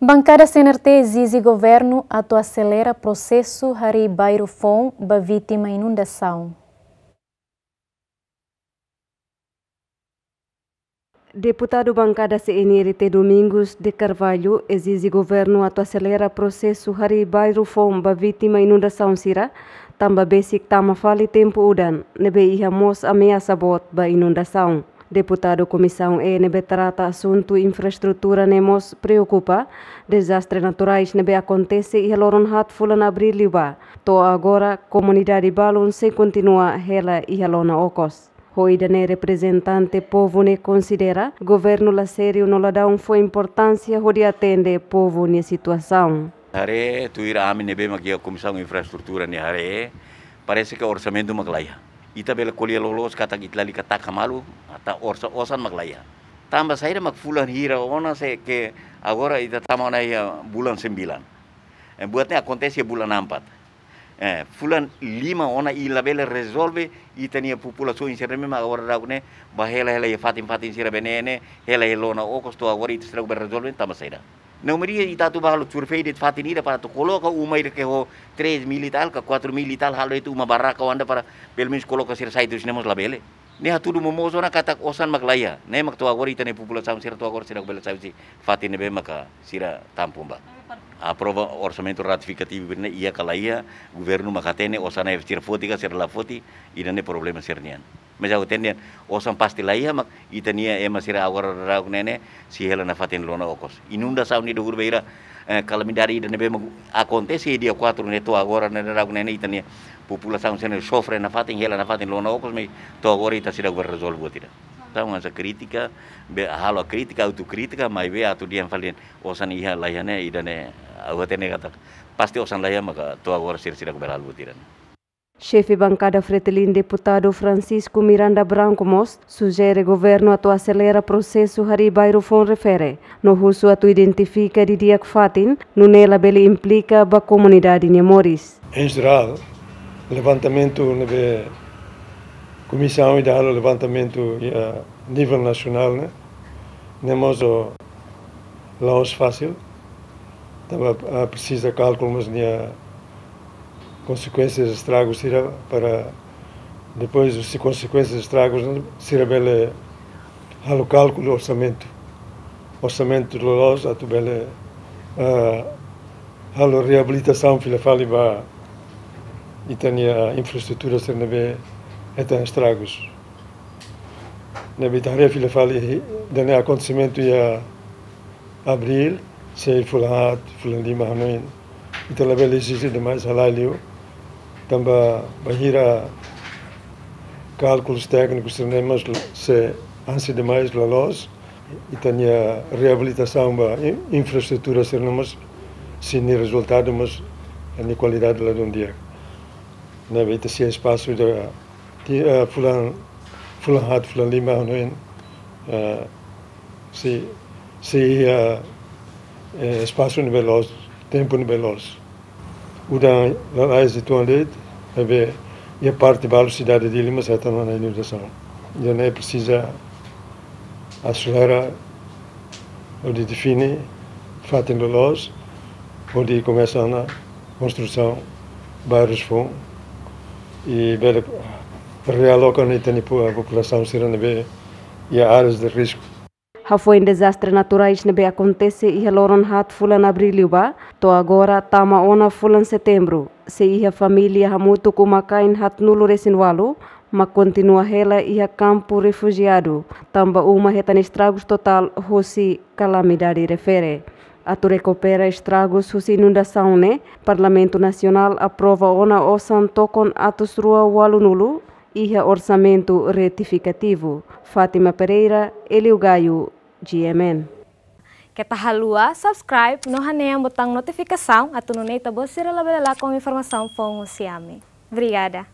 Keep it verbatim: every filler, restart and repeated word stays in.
Bankada C N R T ezije governu atu aselera prosesu harii bairru foun ba vítima inundasaun. Deputadu bankada C N R T Domingos de Carvalho ezije governu atu aselera prosesu harii bairru foun ba vítima inundasaun sira, tanba besik tama fali tempu udan, ne'ebé iha mós ameasa boot ba inundasaun. Deputadu Komisaun E ne'ebé trata asuntu infraestrutura ne'e mós preokupa dezastre naturais ne'ebé akontese iha loron haat fulan Abríl liubá. To'o agora, komunidade balun sei kontinua hela iha lona okos. Ho ida-ne'e reprezentante povu ne'e konsidera governu la sériu no la da'un fó importánsia hodi atende povu nia situasaun. Haree, tuir ami ne'ebé mak iha Komisaun Infraestrutura nia haree, parese ke orsamentu mak laiha. Ita bele ko'alia loloos katak ita lalika taka malu, ita orsa osan mak laiha. Tanba saida mak fulan hira ona se ke agora ita tama ona iha bulan sembilan. Eh, buat ne'e akontese bulan empat. Eh, fulan lima ona ita labele rezolve, ita-nia populasaun sira ne'ebé mak agora daudaun ne'e, ba hela-hela iha fatin-fatin sira-ne'ebé ne'e, hela iha lona okos to'o agora ita seidauk bele rezolve, tanba saida. Ne'e mak ita atu ba halo survei de'it fatin ida para atu koloka uma ida ke ho três mil e tal, ka quatro mil e tal, halo de'it uma barraka anda para pelumenus koloka sira sai husi ne'e mós labele. Ne'e hatudu momoos ona katak osan mak laiha. Ne'e mak to'o agora ita-nia populasaun sira to'o agora sira bele sai husi fatin ne'ebé maka sira tampung ba. Aprova orsamentu retifikativu ne'e iha ka laiha, governu mak hatene osan ne'e sira foti ka sira la foti, ida-ne'e problema sira-nian. Mas ha'u hatene osan pasti laiha mak ita-nia ema sira agora daudaun ne'e sei hela nafatin lona okos. Inundasaun ida huru bainhira, eh, kalamidade ida ne'ebé mak akontese dia quatro ne'e to'o agora ne'e daudaun ne'e ita-nia populasaun sira sofre nafatin, hela nafatin lona okos, mas to'o agora ita seidauk bele rezolve buat ida. Entaun hanesan krítika, be halo krítika, autokrítika, maibé atu dehan fali osan iha laiha ne'e, ida-ne'e, ha'u hatene katak pasti osan laiha maka to'o agora sira seidauk bele halo buat ida-ne'e. Xefe bankada Fretilin Deputadu Francisco Miranda Branco mós sujere governu atu aselera prosesu harii bairru foun refere, no husu atu identifika didi'ak fatin, nune'e labele implika ba komunidade nia moris. Em geral, levantamentu ne'ebé komisaun ida halo levantamentu iha nivel nasionál ne'e, ne'e mós la'ós fásil, tanba, ah, presiza kalkula mós nia konsekuénsias estragu sira para depois husi konsekuénsias estragu sira bele halo kalkula orsamentu. Orsamentu loloos atu bele, ah, halo reabilitasaun fila fali ba ita-nia infraestrutura sira ne'ebé hetan estragus. Ne'ebé ita haree fila fali ida-ne'e akontesimentu iha Abríl, sei fulan haat, fulan lima hanoin. Ita labele ezije demais halai liu. Tanba bainhira kalkulus téknikus sira-ne'e mós sei ansi demais loloos, ita-nia reabilitasaun ba in-, infraestrutura sira-ne'e mós sei nia rezultadu mós nia kualidade ladún di'ak. Ne'ebé ita sei espasu ida ti, eh, fulan, fulan haat, fulan lima hanoin, eh, sei, sei, eh, eh, espasu ne'ebé loos, tempu ne'ebé loos. Udan lalais uitoan de'it, ne'ebé iha parte balu sidade Dili mós hetan ona inundasaun. Ida-ne'e presiza aselera hodi define fatin loloos, hodi komesa ona konstrusaun bairrus foun i bele realoka ona ita-nia po-, populasaun sira ne'ebé iha áreas de risku. Hafoin dezastre naturais ne'ebé akontese iha loron haat fulan Abríl liubá, to'o agora tama ona fulan Setembru, sei iha família hamutuk uma-kain haatnulu-resin-ualu, mak kontinua hela iha kampu refujiadu, tanba uma hetan estragus totál husi kalamidade refere. Atu rekupera estragus husi inundasaun ne'e, Parlamentu Nasionál aprova ona osan tokon atus rua ualunulu iha orsamentu retifikativu. Fátima Pereira, Elio Gaio, G M N. Keta haluha subscribe no hanehan botaun notifikasaun atu nune'e ita-boot sira labele lakon informasaun foun husi ami. Obrigada.